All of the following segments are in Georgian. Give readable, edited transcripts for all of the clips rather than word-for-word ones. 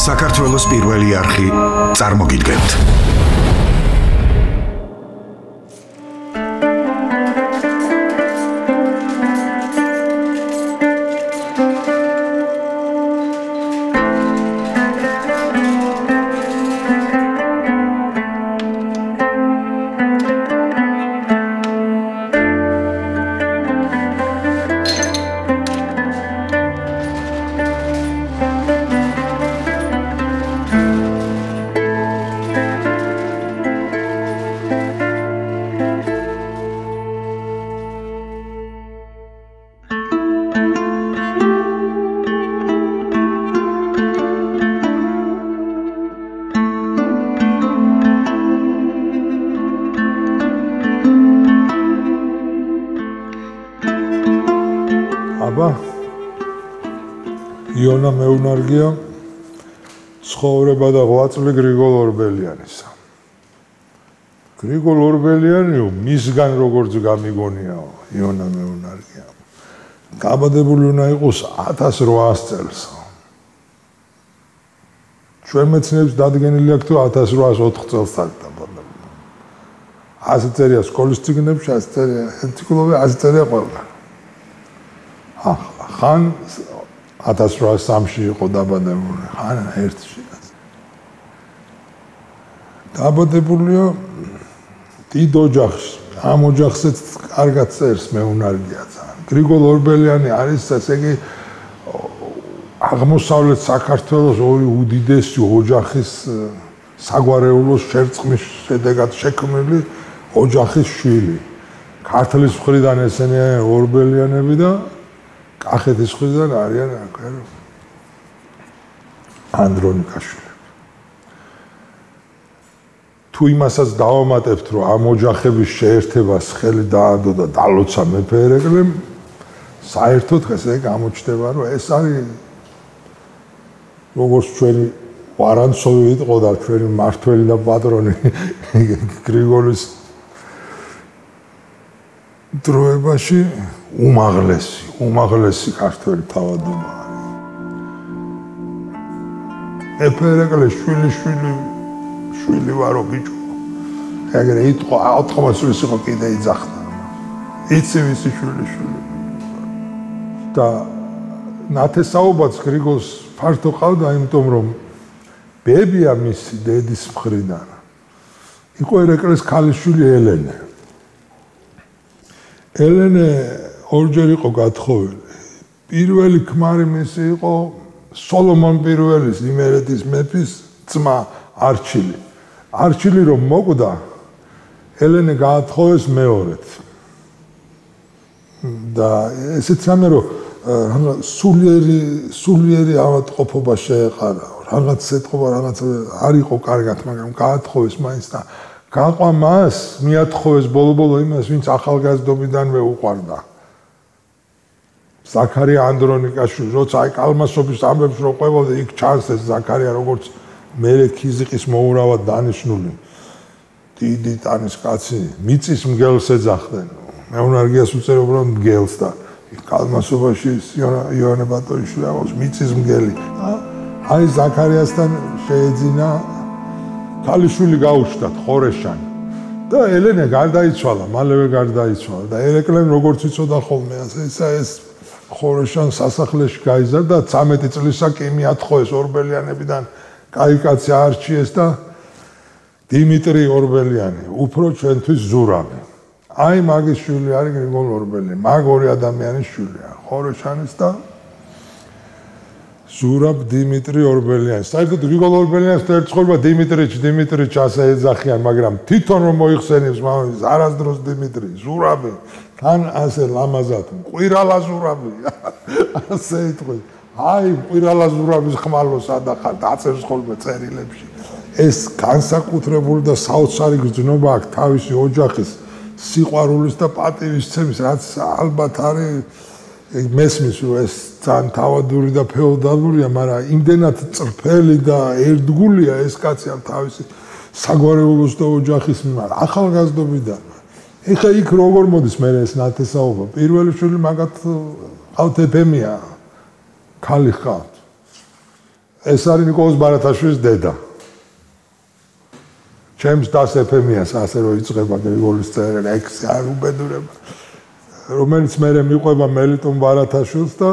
საქართველოს პირველი არხი წარმოგიდგენთ. იონა მეუნარგია ცხოვრება და 8 წლი გრიგოლ ორბელიანისა. გრიგოლ ორბელიანი მისგან როგორც გამიგონიაო იონა მეუნარგია. გაბადებული უნდა იყოს 1800 წელს. ჩვენ მეცნიერებს დადგენილი აქვს თუ 1804 წელს დაბადებული. ასე წერია სკოლის წიგნებში, ასე წერია ენციკლოპედიაში, ასე წერია ყველგან. ხან 1803-ში იყო დაბადებული, ხან 1-ში. დაბადებულია დიდ ოჯახში. ამ ოჯახშიც კარგად წერს მეუნარგია ძალიან. გრიგოლ ორბელიანი არის ესე იგი აღმოსავლეთ საქართველოს ორი უდიდესი ოჯახის საგვარეულოს შერწყმის შედეგად შექმნილი ოჯახის შვილი. ქართლის მხრიდან ესენია ორბელიანები და კახეთის მხრიდან არიან ანდრონიკაშვილი. თუ იმასაც დავამატებთ, რომ ამ ოჯახების შეერთებას ხელი დაადო და დალოცა მეფე ერეკლემ, საერთოდ ესე გამოჩნდება, რომ ეს არის როგორც ჩვენი ვარანცოვი იყო და ჩვენი მართველი და პატრონი გრიგოლის დროებაში უმაღლესი ქართველი თავადობა არის. მეფე ერეკლე შვილი ვარო ბიჭო. ეგრე იტყვა 80 წლის იყო კიდე იძახდა. იცი ვისი შვილი. და ნათესაობაც გრიგოლს ფართო ყავდა, იმიტომ რომ ბებია მისი დედის მხრიდან იყო ერეკლეს ქალიშვილი ელენე. ელენე ორჯერ იყო გათხოვილი. პირველი ქმარი მისი იყო სოლომონ პირველის იმერეთის მეფის ძმა არჩილი. არჩილი რომ მოკვდა, ელენე გაათხოვეს მეორედ. და ესეც ამე რომ სულიერი ავადმყოფობა შეეყარა. რაღაც ეთყობა, რაღაც არ იყო კარგად, მაგრამ გაათხოვეს მაინც და გაყვა მას, მიათხოვეს ბოლო-ბოლო იმას, ვინც ახალგაზრდობიდანვე უყვარდა. ზაქარია ანდრონიკაშვილი, როცა აი კალმასობის ამბებს რო ყვებოდა, იქ ჩანს ეს ზაქარია როგორც მერე ქიზიყის მოურავად დანიშნული. დიდი ტანის კაცი, მიწის მგელს ეძახდნენ. მეუნარგიას უწერობ რომ მგელს და კალმასობაში იონა ბატონიშვილი აღავს მიწის მგელი. აი ზაქარიასთან შეეძინა ქალიშვილი გაუჩნდათ ხორეშანი და ელენე გარდაიცვალა, მალევე გარდაიცვალა და ერეკლემ როგორც იცოდა ხოლმე ეს ხორეშან სასახლეში გაიზარდა 13 წლისა კი მიათხოვეს ორბელიანებიდან კაი კაცი არჩიეს და დიმიტრი ორბელიანი, უფრო ჩვენთვის ზურავი. აი მაგის შვილი არის გრიგოლ ორბელიანი, მაგ ორი ადამიანის შვილია, ხორეშანის და ზურაბ დიმიტრი ორბელიანი. საერთოდ გრიგოლ ორბელიანს ერთხელ დიმიტრიჩ ასე ეძახიან, მაგრამ თვითონ რომ მოიხსენებს მამის არასდროს დიმიტრი, ზურაბი, თან ასე ლამაზად, მყვირალა ზურაბი. ასე იტყვი. აი მყვირალა ზურაბის ხმალო სადახარ დაწერს ხოლმე წერილებში. ეს განსაკუთრებული და საოცარი გრძნობა აქვს თავისი ოჯახის სიყვარულის და პატივისცემის, რაც ალბათ არის მესმის რომ ეს ძალიან თავადური და ფეოდალურია, მაგრამ იმდენად წრფელი და ერთგულია ეს კაცი ამ თავისი საგვარეულოს და ოჯახის მიმართ ახალგაზრდობიდან. ეხა იქ როგორ მოდის მე ეს ნათესაობა? პირველი შვილი მაგათ ყავთ ეფემია, ქალი ხავთ. ეს არის ნიკოლოზ ბარათაშვილის დედა. ჩემს დას ეფემიას ასე რომ იწება გრიგოლის წერილი ლექსი არ უბედურება. რომელიც მე მიყვება მელიტონ ბარათაშვილს და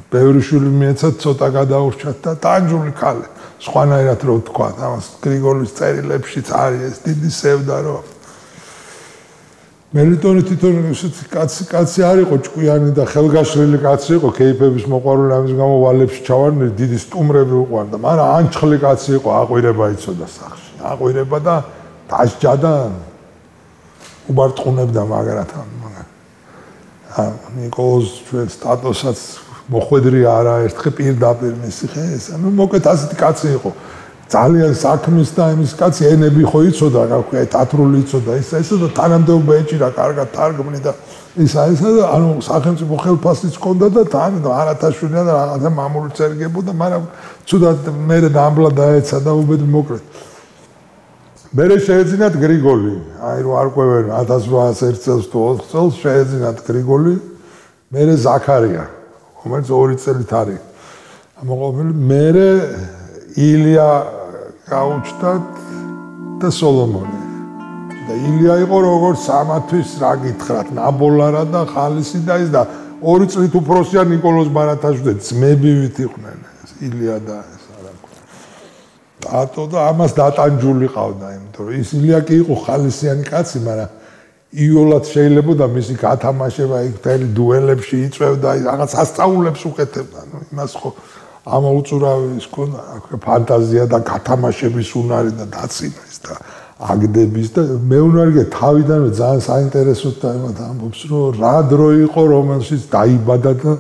ბევრი შვილი მიეცა ცოტა გადაურჩათ და ტანჯული ქალი. სხვანაირად რო ვთქვა, ამას გრიგოლის წერილებშიც არის ეს დიდი სევდა რომ მელიტონი თვითონ ისეთი კაცი არ იყო ჭკვიანი და ხელგაშლილი კაცი იყო, კეიფების მოყვარული ამის გამო ვალებში ჩავარდნილი, დიდი სტუმრები უყვარდა, მაგრამ ანჩხლი კაცი იყო, აყვირება იცოდა სახში. აყვირება და დასჯა და უბარტყუნებდა მაგრათან. ნიკოლოზ ჩვენ სტატუსაც მოხვედრი არა ერთხელ პირდაპირ მისი ხე ეს. ნუ მოკეთ ასეთი კაცი იყო. ძალიან საქმის და იმის კაცი ენები ხო იცოდა, რა ქვია, თათრული იცოდა, ისა და თანამდებობა ეჭირა, კარგად თარგმნი და ისა და ანუ სახელმწიფო ხელფასიც ჰქონდა და თან არათაშვილი და რაღაცა მამული წერგებოდა, მაგრამ ცუდად მე დამბლა დაეცა და უბედ მოკლედ. მერე შეეძინათ გრიგოლი, აი რო არ ყვევენ 1801 წელს თუ 4 წელს შეეძინათ გრიგოლი, მერე ზაქარია, რომელიც 2 წელით არის. ამოყოლებული მერე ილია გაუჩნდათ და სოლომონი. და ილია იყო როგორც სამათვის რა გითხრათ, ნაბოლარა და ხალისი და ის და 2 წლით უფროსია ნიკოლოზ ბარათაშვილი, ძმებივით იყვნენ ილია და ეს არა ქვია. ატო და ამას დატანჯული ყავდა, იმიტომ რომ ის ილია კი იყო ხალისიანი კაცი, მაგრამ იოლად შეიძლება მისი გათამაშება იქ თელი დუელებში იწევდა, რაღაც ასწაულებს უკეთებდა, ნუ იმას ხო ამოუწურავის ქონდა ფანტაზია და გათამაშების უნარი და დაცინის და აგდების და მეუნარგე თავიდანვე ძალიან საინტერესოდ და იმათ ამბობს რომ რა დრო იყო რომელშიც დაიბადა და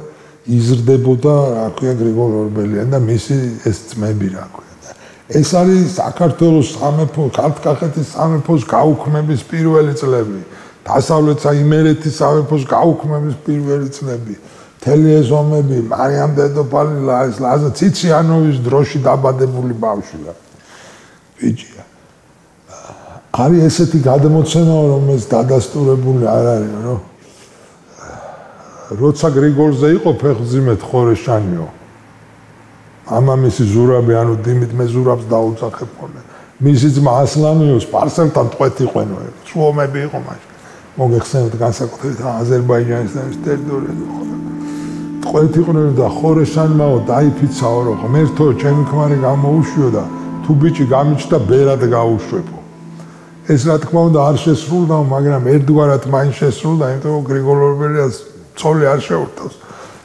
იზრდებოდა რა ქვია გრიგოლ ორბელიანი და მისი ეს ძმები რა ქვია და ეს არის საქართველოს სამეფო ქართლ-კახეთის სამეფოს გაუქმების პირველი წლები დასავლეთ იმერეთის სამეფოს გაუქმების პირველი წლები მთელი ეს ომები მარიამ დედოფალი ლაზა ციციანოვის დროში დაბადებული ბავშვია ბიჭია არის ესეთი გადმოცემა რომელიც დადასტურებული არ არის რომ როცა გრიგოლზე იყო ფეხმძიმედ ხორეშანიო მამამისი ზურაბი ანუ დიმით მე ზურაბს დაუძახებოდნენ მისი ძმა ასლანიოს პარსელთან ტყვეთიყვენო სუომები იყო მაშინ მოგეხსენებთ განსაკუთრებით აზერბაიჯანის და ის ტერიტორიაზე ტყვეთიყვნენ და ხორეშანმაო დაიფიცაო რომ ღმერთო ჩემი ქმარი გამოუშვიო და თუ ბიჭი გამიჩნდა ბერად გაუშვებო ეს რა თქმა უნდა არ შესრულდა მაგრამ ერთგვარად მაინც შესრულდა იმიტომ რომ გრიგოლ ორბელიანს ცოლი არ შეურთავს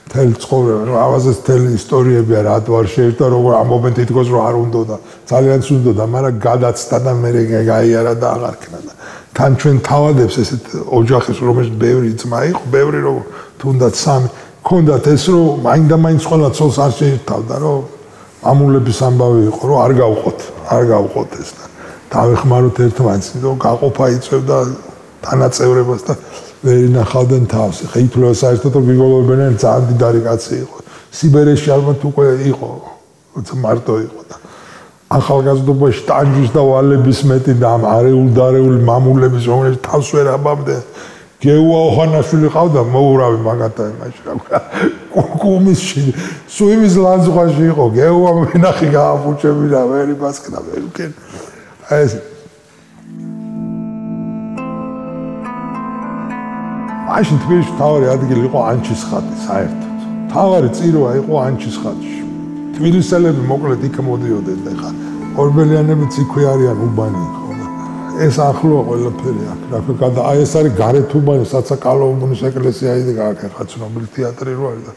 მთელი ცხოვრება რომ ავაზეს მთელი ისტორიებია რა თუ არ შეერთდა როგორ ამობენ თითქოს რომ არ უნდოდა ძალიან სუნდოდა მაგრამ გადაცდა და მე გაიარა და აღარ ქნა და თან ჩვენ თავადებს ესეთ ოჯახის რომელშიც ბევრი ძმა იყო ბევრი რომ თუნდაც სამი ქონდათ ეს რომ მაინდა-მაინც ყველა ცოლს არ შეერთავდა რომ ამულების ამბავი იყო რომ არ გავყოთ ეს და დავეხმაროთ ერთმანეთს რომ გაყოფა იწევდა თანაწევრებას და ვერ ინახავდნენ თავს. ხა ითვლება საერთოდ რომ გრიგოლ ორბელიანი ძალიან დიდარი კაცი იყო. სიბერეში ალბათ უკვე იყო, როცა მარტო იყო და ახალგაზრდობაში ტანჯვის და ვალების მეტი და ამ არეული მამულების რომელიც თავს ვერ აბამდნენ. გეუა ოხანაშვილი ყავდა მოურავი მაგათა იმაში რა ქვია. კუმისში სუიმის ლანძღვაში იყო. გეუა მენახი გააფუჭები და ვერ იბასკდა ვერ უკენ. ეს მაშინ თბილისში თავარი ადგილი იყო ანჩისხატი საერთოდ. თავარი წირვა იყო ანჩისხატში. თბილისელები მოკლედ იქ მოდიოდნენ და ხა ორბელიანებიც იქვე არიან უბანი ხო და ეს ახლოა ყველაფერი აქ. რა ქვია აი ეს არის გარეთ უბანი საცაკალო უბნის ეკლესია idi ხა ცნობილი თეატრი რო არის და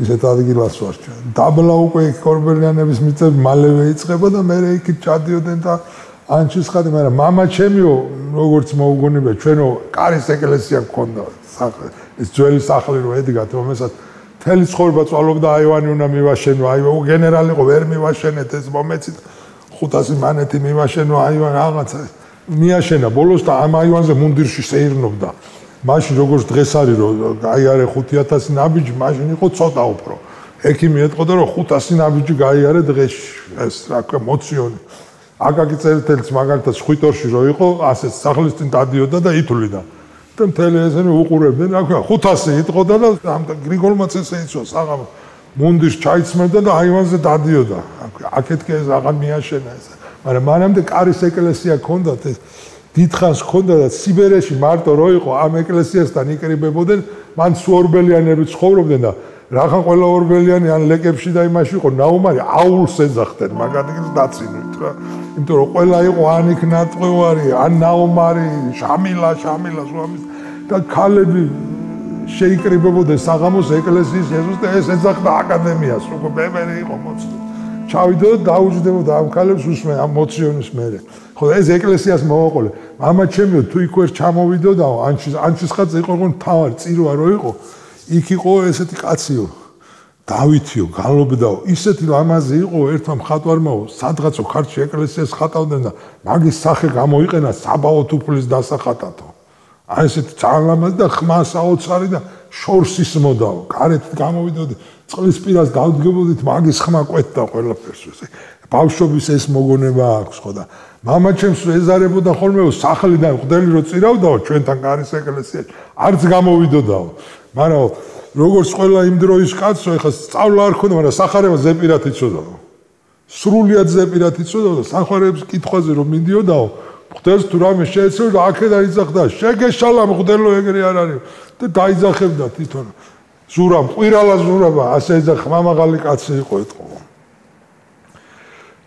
ისეთ ადგილას ვარ ჩვენ. დაბლა უკვე იქ ორბელიანების მიწები მალევე იწყება და მე იქით ჩადიოდნენ და ანჩისხატი, მაგრამ მამა ჩემიო როგორც მოუგონებია ჩვენო კარის ეკლესია გქონდა ეს ძველი სახლი რო ედგათ რომელსაც მთელი ცხოვრება წვალობდა აივანი უნდა მივაშენო აივო გენერალი იყო ვერ მივაშენეთ ეს მომეცით 500 მანეთი მივაშენო აივანი რაღაცა მიაშენა ბოლოს და ამ აივანზე მუნდირში შეირნობდა მაშინ როგორც დღეს არის რომ გაიარე 5000 ნაბიჯი მაშინ იყო ცოტა უფრო ექიმი ეტყოდა რომ 500 ნაბიჯი გაიარე დღეში ეს რა ქვია მოციონი აკაკი წერეთელიც მაგალითად ხვიტორში რო იყო ასე სახლის წინ დადიოდა და ითვლიდა და მთელი ესენი უყურებდნენ რა ქვია 500 იტყოდა და ამ გრიგოლმაც ესე იცვა საღამო მუნდირს ჩაიცმევდა და აივანზე დადიოდა. აქეთ კი ეს აღარ მიაშენა ეს. მაგრამ მანამდე კარის ეკლესია ჰქონდათ ეს დიდხანს ჰქონდა და სიბერეში მარტო რო იყო ამ ეკლესიასთან იკრიბებოდნენ, მან სუორბელიანები ცხოვრობდნენ და რახან ყველა ორბელიანი ან ლეკებში და იმაში იყო ნაუმარი აულს ეძახდნენ, მაგალითად დაცინვით რა. იმიტომ რომ ყველა იყო ან იქ ნატყვევარი, ან ნაუმარი, შამილა სვამის და ქალები შეიკრიბებოდნენ საღამოს ეკლესიის ეზოს და ეს ეძახდა აკადემიას, უკვე ბებერი იყო მოცული. ჩავიდა და დაუჯდებოდა ამ ქალებს უსმენ ამ მოციონის მერე. ხო და ეს ეკლესიას მოვაყოლე. მამა ჩემიო თუ იქ ვერ ჩამოვიდოდაო, ანჩისხაძე იყო მთავარი წირვა რო იყო. იქ იყო ესეთი კაციო. დავითიო, გალობდაო, ისეთი ლამაზი იყო ერთმა მხატვარმაო, სადღაცო ქართლში ეკლესიას ხატავდნენ და მაგის სახე გამოიყენა საბაო თუფლის დასახატათო. აი ესეთი ძალიან ლამაზი და ხმა საოცარი და შორს ისმოდაო. გარეთ გამოვიდოდი, წყლის პირას გავდგებოდით, მაგის ხმა კვეთდა ყველაფერს. ბავშვობის ეს მოგონება აქვს ხო და მამა ჩემს ეზარებოდა ხოლმე სახლიდან ყდელი რო წირავდაო ჩვენთან კარის ეკლესიაში, არც გამოვიდოდაო. მაგრამ როგორც ყველა იმ დროის კაცო, ეხლა სწავლა არ ქონდა, მაგრამ სახარება ზეპირად იცოდაო. სრულიად ზეპირად იცოდაო და სახარების კითხვაზე რომ მიდიოდაო, მღვდელს თუ რამე შეეცეოდა, აქედან იძახდა, შეგეშალა მღვდელო ეგრე არ არის და დაიძახებდა თვითონ. ზურამ, ყვირალა ზურაბა, ასე ეძახა, მამაღალი კაცი იყო ეთყო.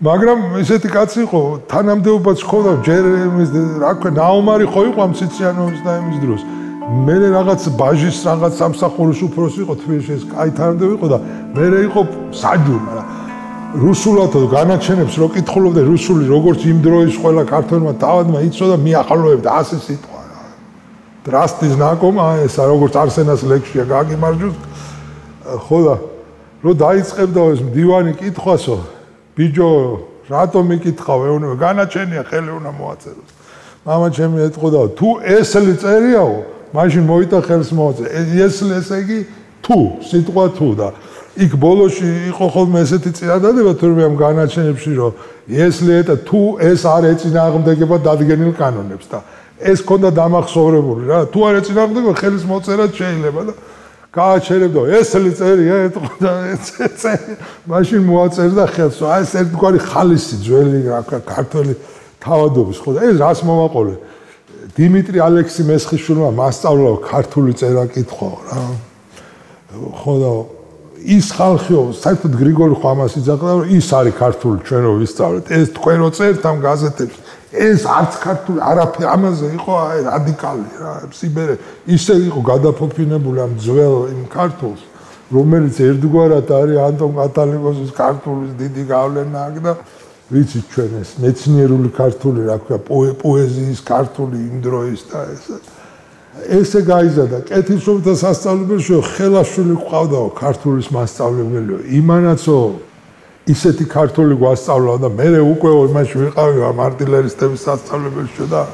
მაგრამ ესეთი კაცი იყო, თანამდებობაც ჰქონდა, ჯერ იმის რა ქვია, ნაუმარი ხო იყო ამ ციციანოვის და იმის დროს. მე რაღაც ბაჟის რაღაც სამსახურის უფროსი იყო თბილისში, ეს კაი თანამდებობა იყო და მე იყო საჯური, მაგრამ რუსულათო განაჩენებს რო კითხულობდა რუსული როგორც იმ დროის ყველა ქართველმა თავადმა იცოდა მიახალოებდა ასე სიტყვა. დრასტის ნაკომა ესა როგორც არსენას ლექსია გაგიმარჯოს ხო და რო დაიწყებდა ეს მდივანი კითხვასო ბიჯო რატომ მიკითხავ ეუბნება განაჩენია ხელი უნდა მოაწეროს. მამა ჩემი ეთყოდა თუ ესლი წერიაო მაშინ მოიტა ხელს მოაწე. ესლი ესე იგი თუ სიტყვა თუ და იქ ბოლოში იყო ხოლმე ესეთი წინადადება თურმე ამ განაჩენებში რომ ესლეეთა თუ ეს არ ეწინააღმდეგება დადგენილ კანონებს და ეს ქონდა დამახსოვრებული რა თუ არ ეწინააღმდეგება ხელის მოწერაც შეიძლება და გააჩერებდა ესლი წერია ეთყოდა მაშინ მოაწერდა ხელს აი ეს ერთგვარი ხალისი ძველი რა ქართველი თავადობის ხო და ეს რას მოვაყოლე დიმიტრი ალექსი მესხიშვილმა მასწავლა ქართული წერა კითხვაო რა ხო და ის ხალხიო, საერთოდ გრიგორი ხო ამას იძახდა, რომ ის არის ქართული ჩვენ რო ვისწავლეთ. ეს თქვენ რო წერთ ამ გაზეთებში, ეს არც ქართული, არაფერი ამაზე იყო რადიკალი რა, სიბერე. ისე იყო გადაფოფინებული ამ ძველ იმ ქართულს, რომელიც ერთგვარად არის ანტონ კატალიკოსის ქართულის დიდი გავლენა აქ და ვიცით ჩვენ ეს მეცნიერული ქართული, რა ქვია, პოეზიის ქართული იმ დროის და ესე გაიზარდა კეთილშობილთა სასწავლებელში ხელაშვილი ყავდაო ქართულის მასწავლებელიო იმანაცო ისეთი ქართული გვასწავლა და მე უკვე იმაში ვიყავი ამ არტილერისტების სასწავლებელში და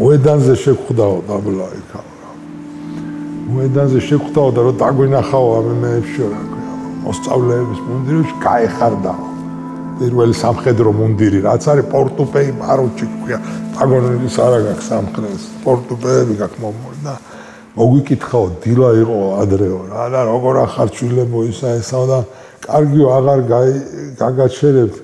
მოედანზე შეგხვდაო დაბლა იქა მოედანზე შეგხვდაო და რომ დაგვინახაო ამ მეებში რა ქვია მოსწავლეების მუნდირებში გაეხარდაო პირველი სამხედრო მუნდირი რაც არის პორტუპეი პაროჩი ქვია პაგონელის არა გაქვს სამხედროს პორტუპეები გაქვს მომორდა მოგვიკითხაო დილა იყო ადრეო რა და როგორ ახარ ჩვილებო ისა ესაო და კარგიო აღარ გაგაჩერებთ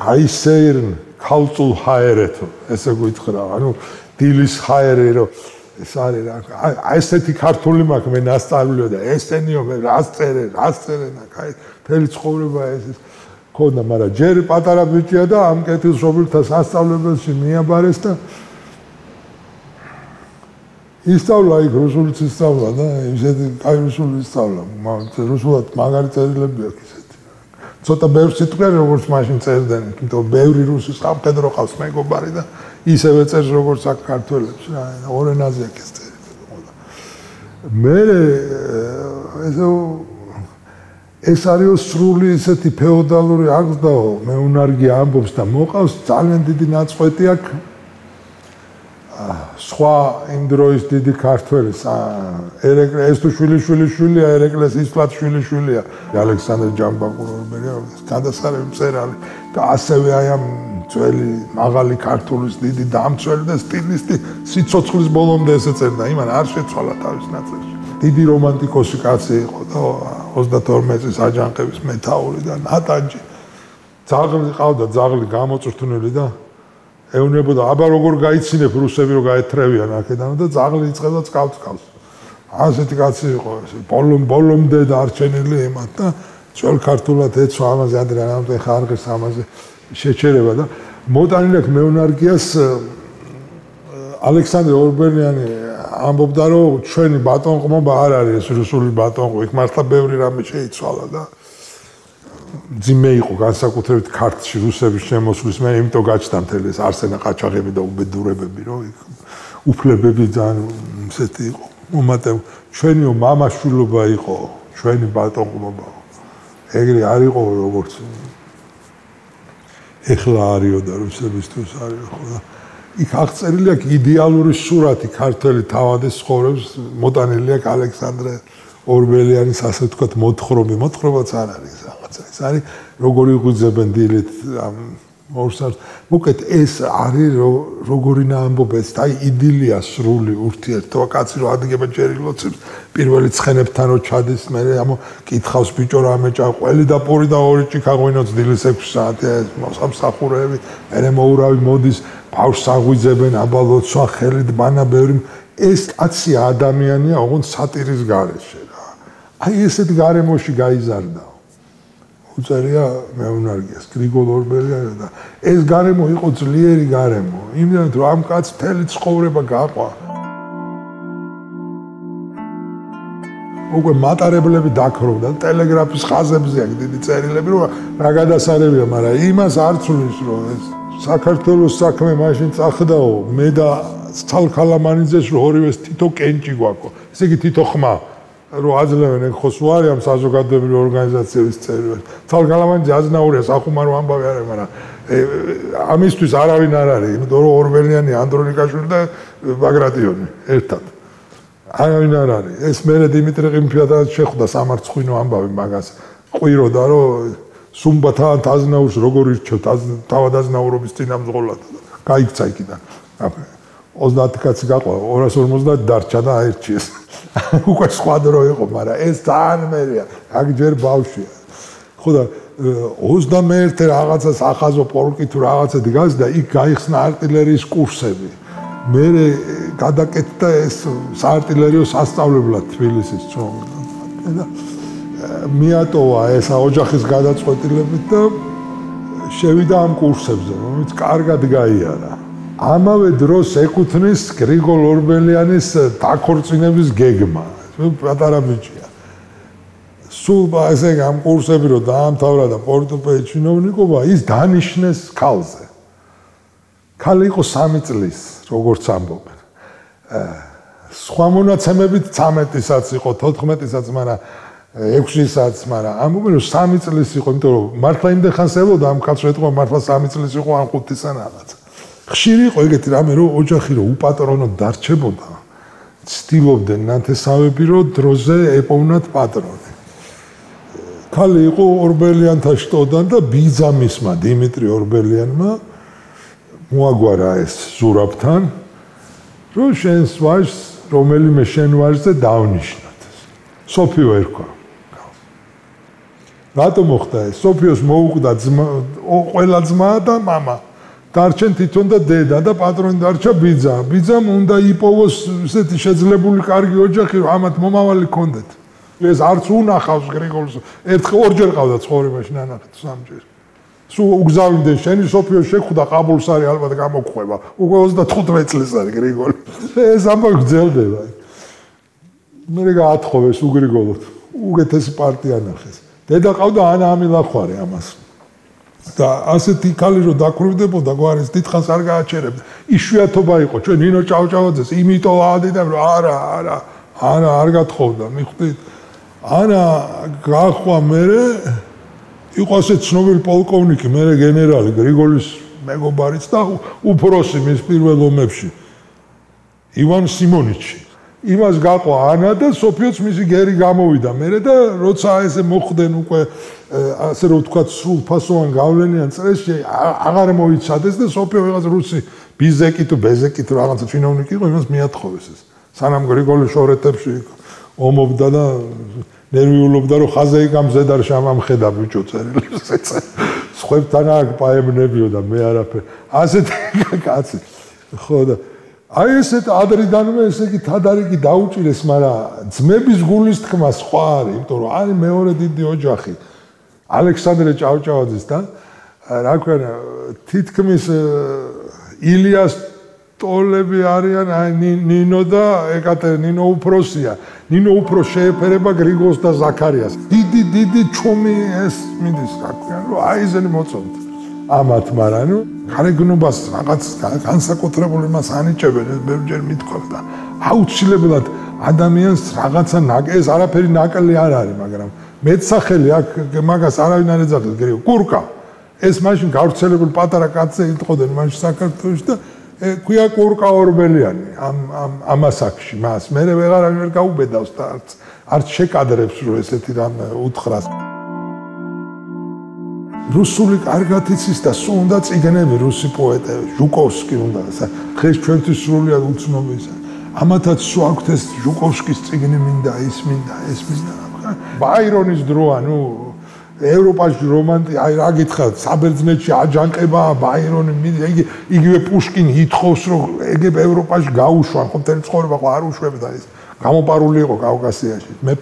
გაისეირნ ქალწულ ჰაერეთო ესე გითხრა ანუ დილის ჰაერი რომ ეს არის რა აი ესეთი ქართული მაქვს მე ნასწავლიო და ესენიო მე რას წერე და კაი მთელი ცხოვრება ეს ქონდა მაგრამ ჯერ პატარა ბიჭია და ამ კეთილშობილთა სასწავლებელში მიაბარეს და ისწავლა იქ რუსულიც ისწავლა და ისეთი კაი რუსული ისწავლა რუსულად მაგარი წერილები აქვს ისეთი ცოტა ბევრი სიტყვა როგორც მაშინ წერდნენ იმიტომ ბევრი რუსი სამხედრო ყავს მეგობარი და ისევე წერს როგორც აქ ქართველებს რა ორ ენაზე აქ ეს წერილი მე ეს არის სრული ესეთი ფეოდალური აღზრდაო მე უნარგი ამბობს და მოყავს ძალიან დიდი ნაწყვეტი აქ სხვა იმ დროის დიდი ქართველის ეს თუ შვილიშვილია ერეკლეს ისლათ შვილიშვილია ალექსანდრე ჯამბაკუროვერია გადასარევი მწერალი და ასევე აი ამ ძველი მაღალი ქართულის დიდი დამცველი და სტილისტი სიცოცხლის ბოლომდე ესე წერდა იმან არ შეცვალა თავის ნაწილში დიდი რომანტიკოსი კაცი იყო და 32 წლის აჯანყების მეთაური და ნატანჯი. ძაღლი ყავდა, ძაღლი გამოწვრთნილი და ეუნებოდა, აბა როგორ გაიცინებ რუსები რომ გაეთრევიან აქედან და ძაღლი იწყება წკავს. ასეთი კაცი იყო ეს. ბოლომდე დარჩენილი ემათ და ძველ ქართულად ეცვა ამაზე ადრე რამე ხარღის ამაზე შეჩერება და მოტანილი აქვს მეუნარგიას ალექსანდრე ორბელიანი ამბობდა რომ ჩვენი ბატონყმობა არ არის ეს რუსული ბატონყმობა, იქ მართლა ბევრი რამე შეიცვალა და ძიმე იყო განსაკუთრებით ქართლში რუსების შემოსვლის მე იმიტომ გაჩნდა მთელი ეს არსენა ყაჩაღები და უბედურებები რომ იქ უფლებები ძალიან ისეთი იყო მომატებ ჩვენიო მამაშვილობა იყო ჩვენი ბატონყმობა ეგრე არ იყო როგორც ეხლა არისო და რუსებისთვის არის ხო და იქ აღწერილი აქვს იდეალური სურათი ქართველი თავადის ცხოვრების მოტანილი აქვს ალექსანდრე ორბელიანის ასე ვთქვათ მოთხრობაც არ არის რაღაცა ეს არის როგორი იღვიძებენ დილით ამ ორსარს უკეთ ეს არის როგორი ნაამბობეს და იდილია სრული ურთიერთობა კაცი რო ადგება ჯერი ლოცებს პირველი ცხენებთან რო ჩადის მე ამ კითხავს ბიჭო რამე ჭაყველი და პური და ორი ჭიქა ღვინოც დილის 6 საათია მოსამსახურეები მე მოურავი მოდის ბავშვს აღვიძებენ აბალოცვა ხელით ბანა ბევრი ეს კაცი ადამიანია ოღონდ სატირის გარეშე რა აი ესეთ გარემოში გაიზარდა უწერია მეუნარგიას გრიგოლ ორბელიანი და ეს გარემო იყო ძლიერი გარემო იმდენად რომ ამ კაცს მთელი ცხოვრება გაყვა უკვე მატარებლები დაქროვდა ტელეგრაფის ხაზებზე აქვს დიდი წერილები რომ რა გადასარევია მაგრამ იმას არ ცulis რომ ეს საქართველოს საქმე მაშინ წახდაო მე და ცალქალამანიძეს რომ ორივეს თითო კენჭი გვაქვს ესე იგი თითო ხმა რომ აძლევენ ეგ ხოს უარი ამ საზოგადოებრივი ორგანიზაციების წევრებს. ცალკალამანიძე აზნაურია სახუმარო ამბავი არის, მაგრამ ამისთვის არავინ არ არის, იმიტომ რომ ორბელიანი, ანდრონიკაშვილი და ბაგრატიონი ერთად. არავინ არ არის. ეს მერე დიმიტრი ყიმფიადაც შეხვდა სამარცხვინო ამბავი მაგას. ყვიროდა რომ სუმბათან აზნაურს როგორ ირჩევთ თავად აზნაურობის წინამძღოლად. გაიქცა იქიდან. 30 კაცი გაყვა, 250 დარჩა და აირჩიეს. უკვე სხვა დრო იყო, მაგრამ ეს ძალიან მერია, აქ ჯერ ბავშვია. ხო და 21 რაღაცა სახაზო პოლკი თუ რაღაცა დგას და იქ გაიხსნა არტილერიის კურსები. მე გადაკეთდა ეს საარტილერიო სასწავლებლად თბილისის წვეულში და მიატოვა ეს ოჯახის გადაწყვეტილებით და შევიდა ამ კურსებზე, რომელიც კარგად გაიარა. ამავე დროს ეკუთვნის გრიგოლ ორბელიანის დაქორწინების გეგმა. პატარა ბიჭია. სულ ესე ამ კურსები რო დაამთავრა და პორტუპეის ჩინოვნიკობა, ის დანიშნეს ქალზე. ქალი იყო 3 წლის, როგორც ამბობენ. სხვა მონაცემებით 13-საც იყო, 14-საც, მაგრამ 6-საც, მაგრამ ამბობენ რომ 3 წლის იყო, იმიტომ რომ მართლა იმდენ ხანს ელოდა ამ ქალს ეთქვა მართლა 3 წლის იყო ან 5-ისან რაღაც. ხშირი იყო ეგეთი რამე რომ ოჯახი რომ უპატრონოდ დარჩებოდა ცდილობდნენ ნათესავები რომ დროზე ეპოვნათ პატრონი ქალი იყო ორბელიანთა შტოდან და ბიძამისმა დიმიტრი ორბელიანმა მოაგვარა ეს ზურაბთან რომ შენს ვაჟს რომელიმე შენ ვაჟზე დავნიშნოთ სოფიო ერქვა რატომ მოხდა ეს სოფიოს მოუკვდა ყველა ძმა და მამა დარჩენ თვითონ და დედა და პატრონი დარჩა ბიძა. ბიძამ უნდა იპოვოს ესეთი შეძლებული კარგი ოჯახი, რომ ამათ მომავალი კონდეთ. ეს არც უნახავს გრიგოლს. ორჯერ ყავდა ცხოვრებაში ნანახი სამჯერ. სულ უგზავნდნენ შენი სოფიო შეხვდა ყაბულს არის ალბათ გამოგხვება. უკვე 35 წლის არის გრიგოლი. ეს ამბავი გძელდება. მე გაათხოვეს უგრიგოლოთ. უგეთესი პარტია ნახეს. დედა ყავდა ანა ამილახვარი ამას. და ასეთი ქალი რო დაკრუვდებოდა გვარის დიდხანს არ გააჩერებდა იშვიათობა იყო ჩვენ ნინო ჭავჭავაძეს იმიტომ აადიდან რომ არა არ გათხოვდა მიხვდით ანა გახვა მე იყო ასე ცნობილი პოლკოვნიკი მე გენერალი გრიგოლის მეგობარიც და უფროსი მის პირველ ომებში ივან სიმონიჩი იმას გაყვა ანა და სოფიოც მისი გერი გამოვიდა მე და როცა ესე მოხდნენ უკვე ასე რომ ვთქვათ სრულფასოვან გავლენიან წრეში აღარ მოიცადეს და სოფიო ვიღაც რუსი ბიზეკი თუ ბეზეკი თუ რაღაცა ჩინოვნიკი იყო იმას მიათხოვეს ეს სანამ გრიგოლის შორეთებში ომობდა და ნერვიულობდა რომ ხაზე იკამზე და შამამხედა ბიჭო წერილებს ეწე. სხვებთან აქ პაემნებიო და მე არაფერ. ასეთი კაცი. ხო და აი ესეთ ადრიდანვე ესე იგი თადარიგი დაუჭირეს, მაგრამ ძმების გულის თქმა სხვა არის, იმიტომ რომ არის მეორე დიდი ოჯახი. ალექსანდრე ჭავჭავაძის და რა ქვია თითქმის ილიას ტოლები არიან ნინო და ეკატერინა უფროსია. ნინო უფრო შეეფერება გრიგოლს და ზაქარიას. დიდი ჩუმი ეს მიდის რა ქვია, რომ აიზენი მოწონთ. ამათ, მაგრამ ნუ გარეგნობას რაღაც განსაკუთრებული მას ანიჭებენ, ეს ბევრჯერ მithქვათ და აუცილებლად ადამიანს რაღაცა ეს არაფერი ნაკლი არ არის, მაგრამ მეტსახელი აქ მაგას არავინ არ ეძახის, გრიგოლ კურკა. ეს მაშინ გავრცელებული პატარა კაცზე იტყოდნენ მაშინ საქართველოში და ქვია კურკა ორბელიანი ამ ასაკში მას. მე ვეღარავინ ვერ გაუბედავს და არც შეკადრებს რომ ესეთი რამ უთხრას. რუსული კარგად იცის და სულ უნდა წიგნები რუსი პოეტები, ჟუკოვსკი უნდა, ხეს ჩვენთვის სრულიად უცნობია. ამათაც სულ აქვთ ეს ჟუკოვსკის წიგნი მინდა, ის მინდა, ეს მინდა. ბაირონის დროა, ნუ ევროპაში რომანტი, აი რა გითხრათ, საბერძნეთში აჯანყება, ბაირონი, იგივე პუშკინი ითხოვს, რომ ეგებ ევროპაში გაუშვან, ხო მთელი ცხოვრება ხო არ უშვებდა ეს. გამოპარული იყო კავკასიაში. მე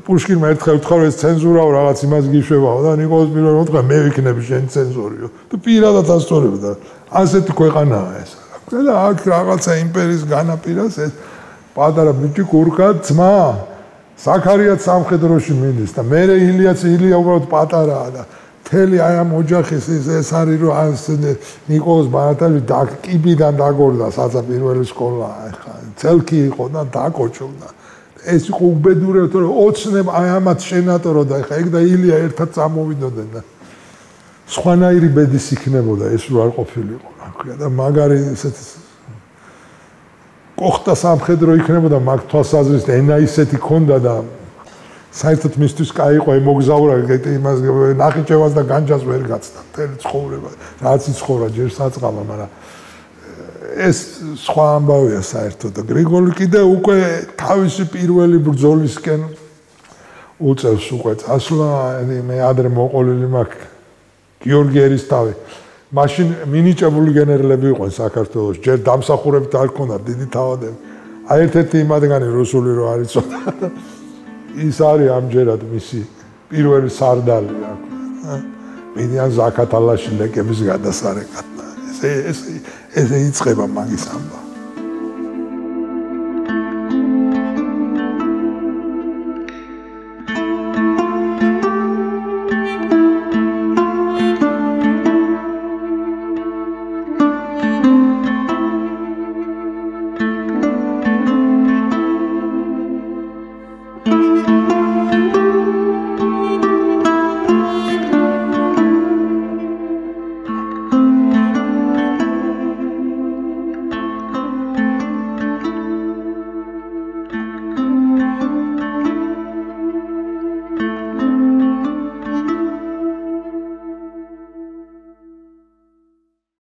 პუშკინმა ერთხელ უთხრა რომ ეს ცენზურაო რაღაც იმას გიშვებაო და ნიკოლოზ პირველმა უთხრა მე ვიქნები შენი ცენზორიო და პირადად ასწორებდა. ასეთი ქვეყანაა ეს. და აქ რაღაცა იმპერიის განაპირას ეს პატარა ბიჭი კურკა ძმა ზაქარიაც სამხედროში მიდის და მე ილია უბრალოდ პატარაა და მთელი აი ამ ოჯახის ეს არის რომ ნიკოლოზ ბარათაშვილი კიბიდან დაგორდა საწაპირველი სკოლა ახლა ცელკი იყო და დაკოჭობდა ეს იყო უბედურება რომ ოცნებ აი ამათ შენატორო და ახლა ეგ და ილია ერთად წამოვიდოდნენ და სხვანაირი ბედის იქნებოდა ეს რო არ ყოფილიყო რა ქვია და მაგარი ესეთი კოხტა სამხედრო იქნებოდა მაგ თვალსაზრისით ენა ისეთი ქონდა და საერთოდ მისთვის კაი იყო მოგზაურა იმას ნახიჩევას და განჯას ვერ გაცდა მთელი ცხოვრება რაც იცხოვრა ჯერ საწყალა მაგრამ ეს სხვა ამბავია საერთოდ და გრიგოლი კიდე უკვე თავისი პირველი ბრძოლისკენ უწევს უკვე წასვლა მე ადრე მოყოლილი მაქვს გიორგი ერისთავი მაშინ მინიჭებული გენერლები იყვნენ საქართველოს ჯერ დამსახურებით არ ქონდა დიდი თავადები აი ერთ-ერთი იმადგანი რუსული რო არ იცოდა ის არის ამჯერად მისი პირველი სარდალი რა ქვია მიდიან ზაქათალაში ლეკების გადასარეკად ესე იწყება მაგის ამბავი